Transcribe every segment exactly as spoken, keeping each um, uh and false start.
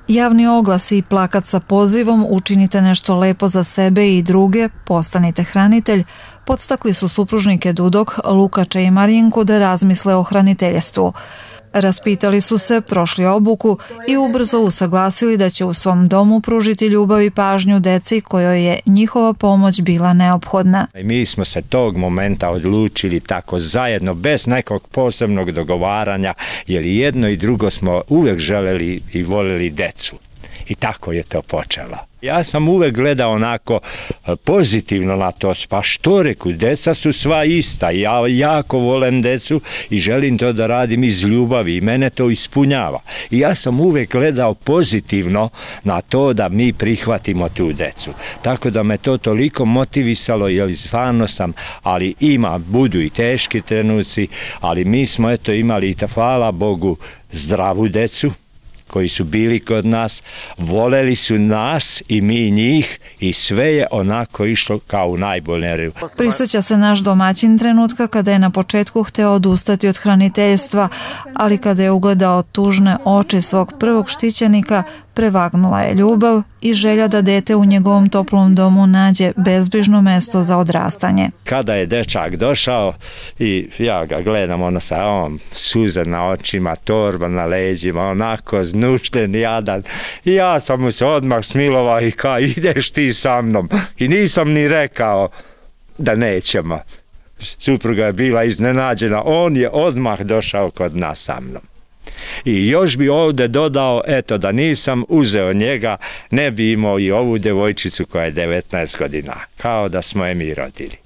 Javni oglasi i plakat sa pozivom učinite nešto lepo za sebe i druge, postanite hranitelj, podstakli su supružnike Dudok, Lukača i Marijenku da razmisle o hraniteljstvu. Raspitali su se, prošli obuku i ubrzo usaglasili da će u svom domu pružiti ljubav i pažnju deci kojoj je njihova pomoć bila neophodna. Mi smo se tog momenta odlučili tako zajedno, bez nekog posebnog dogovaranja, jer jedno i drugo smo uvek želeli i voleli decu. I tako je to počelo. Ja sam uvek gledao onako pozitivno na to, pa što reku, deca su sva ista, ja jako volim decu i želim to da radim iz ljubavi i mene to ispunjava. I ja sam uvek gledao pozitivno na to da mi prihvatimo tu decu. Tako da me to toliko motivisalo, jer stvarno sam, ali ima, budu i teški trenuci, ali mi smo eto imali, hvala Bogu, zdravu decu koji su bili kod nas, voleli su nas i mi njih i sve je onako išlo kao u najboljem redu. Prisjeća se naš domaćin trenutka kada je na početku hteo odustati od hraniteljstva, ali kada je ugledao tužne oči svog prvog štićenika, prevagnula je ljubav i želja da dete u njegovom toplom domu nađe bezbrižno mesto za odrastanje. Kada je dečak došao i ja ga gledam, ono sa ovom suze na očima, torba na leđima, onako znušten, jadan. I ja sam mu se odmah smilovao i kao ideš ti sa mnom. I nisam ni rekao da nećemo. Supruga je bila iznenađena, on je odmah došao kod nas sa mnom. I još bi ovdje dodao, eto, da nisam uzeo njega, ne bi imao i ovu devojčicu koja je devetnaest godina, kao da smo je mi rodili.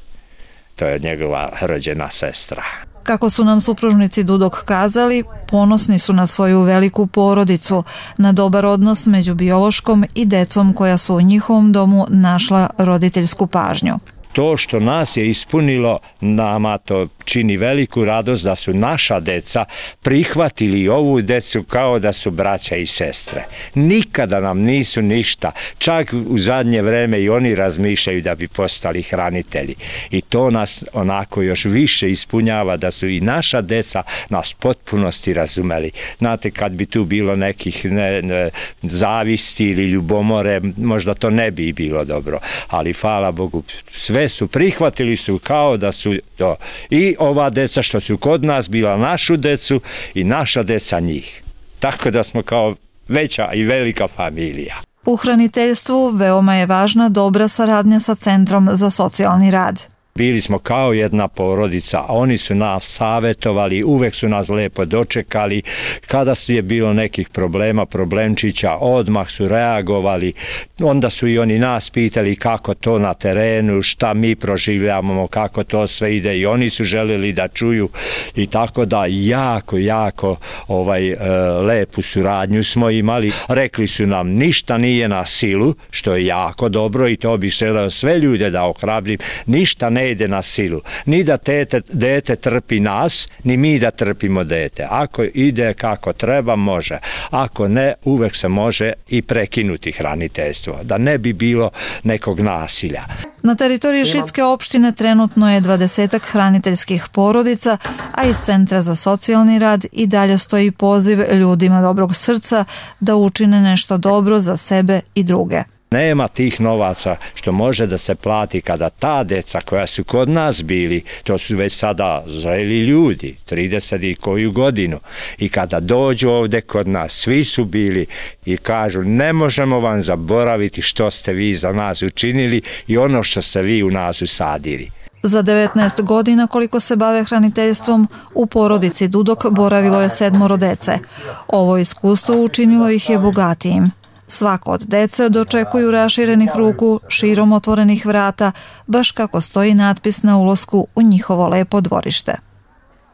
To je njegova rođena sestra. Kako su nam supružnici Dudok kazali, ponosni su na svoju veliku porodicu, na dobar odnos među biološkom i decom koja su u njihovom domu našla roditeljsku pažnju. To što nas je ispunilo, nama to čini veliku radost da su naša deca prihvatili ovu decu kao da su braća i sestre. Nikada nam nisu ništa, čak u zadnje vreme i oni razmišljaju da bi postali hranitelji. I to nas onako još više ispunjava da su i naša deca nas potpunosti razumeli. Znate, kad bi tu bilo nekih ne, ne, zavisti ili ljubomore, možda to ne bi bilo dobro, ali hvala Bogu, sve su prihvatili su kao da su to i ova deca što su kod nas bila našu decu i naša deca njih. Tako da smo kao veća i velika familija. U hraniteljstvu veoma je važna dobra saradnja sa Centrom za socijalni rad. Bili smo kao jedna porodica, a oni su nas savjetovali, uvek su nas lepo dočekali. Kada je bilo nekih problema, problemčića, odmah su reagovali. Onda su i oni nas pitali kako to na terenu, šta mi proživljavamo, kako to sve ide i oni su željeli da čuju. I tako da jako, jako ovaj, e, lepu suradnju smo imali. Rekli su nam ništa nije na silu, što je jako dobro i to bi želeo sve ljude da ohrabrim, ništa ne ide na silu, ni da tete, dete trpi nas, ni mi da trpimo dete. Ako ide kako treba, može. Ako ne, uvek se može i prekinuti hraniteljstvo, da ne bi bilo nekog nasilja. Na teritoriji Šidske opštine trenutno je dvadesetak hraniteljskih porodica, a iz Centra za socijalni rad i dalje stoji poziv ljudima dobrog srca da učine nešto dobro za sebe i druge. Nema tih novaca što može da se plati kada ta deca koja su kod nas bili, to su već sada zreli ljudi, trideset i koju godinu, i kada dođu ovde kod nas, svi su bili i kažu ne možemo vam zaboraviti što ste vi za nas učinili i ono što ste vi u nas usadili. Za devetnaest godina koliko se bave hraniteljstvom, u porodici Dudok boravilo je sedmoro dece. Ovo iskustvo učinilo ih je bogatijim. Svako od dece dočekuju raširenih ruku, širom otvorenih vrata, baš kako stoji natpis na ulasku u njihovo lepo dvorište.